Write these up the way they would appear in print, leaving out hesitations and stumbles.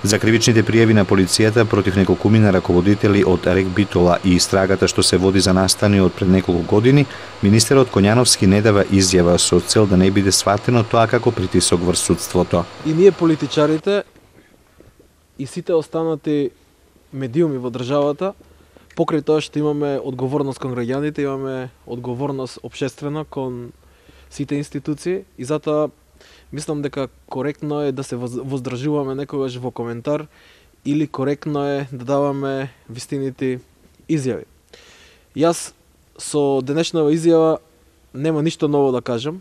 За кривичните пријави на полицијата против неколкумина раководители од РЕК Битола и истрагата што се води за настани од пред неколку години, министерот Коњановски не дава изјава со цел да не биде сватено тоа како притисок врз судството. И ние политичарите и сите останати медиуми во државата, покрај тоа што имаме одговорност кон граѓаните, имаме одговорност општествена кон сите институции и затоа мислам дека коректно е да се воздржуваме некогаш во коментар или коректно е да даваме вистинити изјави. Јас со денешнава изјава нема ништо ново да кажам,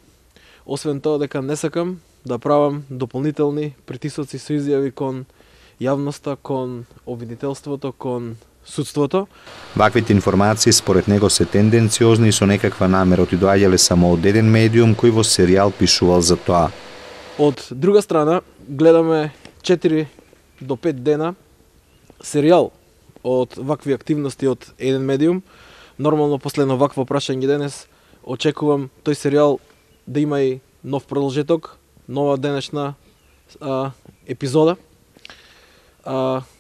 освен тоа дека не сакам да правам дополнителни притисоци со изјави кон јавноста, кон обвинителството, кон судството. Ваквите информации според него се тенденциозни и со некаква намера и доаѓале само од еден медиум кој во серијал пишувал за тоа. Од друга страна, гледаме 4 до 5 дена серијал од вакви активности од еден медиум. Нормално, после едно вакво прашање денес, очекувам тој серијал да има и нов продолжеток, нова денешна епизода.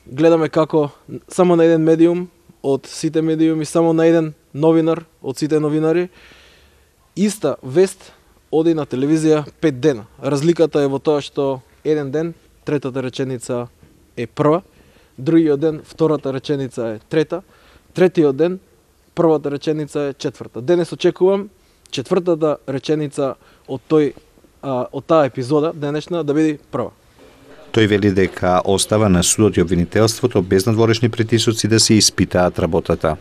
Гледаме како само на еден медиум од сите медиуми, само на еден новинар од сите новинари, иста вест оди на телевизија 5 дена. Разликата е во тоа што еден ден третата реченица е прва, другиот ден втората реченица е трета, третиот ден првата реченица е четврта. Денес очекувам четвртата реченица од таа епизода денешна да биде прва. Тој вели дека остава на судот и обвинителството без надворешни притисоци да се испитаат работата.